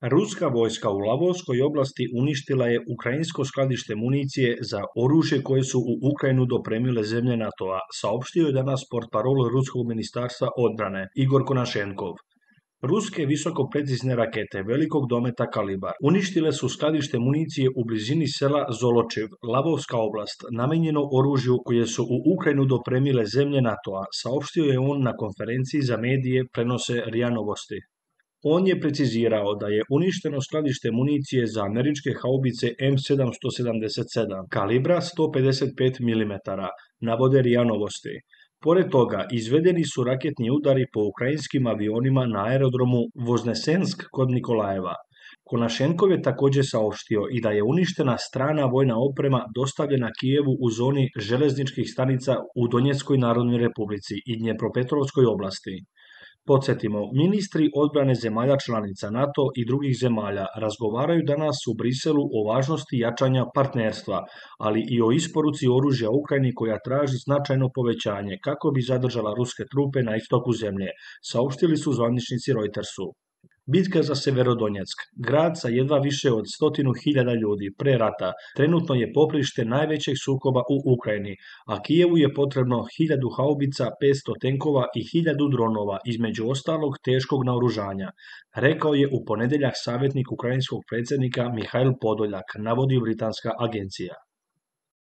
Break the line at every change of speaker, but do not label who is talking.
Ruska vojska u Lavovskoj oblasti uništila je ukrajinsko skladište municije za oružje koje su u Ukrajinu dopremile zemlje NATO-a, saopštio je danas portparol Ruskog ministarstva odbrane Igor Konašenkov. Ruske visokoprecizne rakete velikog dometa Kalibar uništile su skladište municije u blizini sela Zoločev, Lavovska oblast, namijenjeno oružju koje su u Ukrajinu dopremile zemlje NATO-a, saopštio je on na konferenciji za medije, prenose RIA Novosti. On je precizirao da je uništeno skladište municije za američke haubice M777 kalibra 155 mm, navode RIA Novosti. Pored toga, izvedeni su raketni udari po ukrajinskim avionima na aerodromu Voznesensk kod Nikolajeva. Konašenkov je također saopštio i da je uništena strana vojna oprema dostavljena Kijevu u zoni željezničkih stanica u Donjeckoj narodnoj republici i Dnjepropetrovskoj oblasti. Podsjetimo, ministri odbrane zemalja članica NATO i drugih zemalja razgovaraju danas u Briselu o važnosti jačanja partnerstva, ali i o isporuci oružja Ukrajini koja traži značajno povećanje kako bi zadržala ruske trupe na istoku zemlje, saopštili su zvaničnici Reutersu. Bitka za Severodonjeck, grad sa jedva više od 100.000 ljudi pre rata, trenutno je poprište najvećeg sukoba u Ukrajini, a Kijevu je potrebno 1000 haubica, 500 tenkova i 1000 dronova, između ostalog teškog naoružanja, rekao je u ponedjeljak savjetnik ukrajinskog predsjednika Mihail Podoljak, navodi britanska agencija.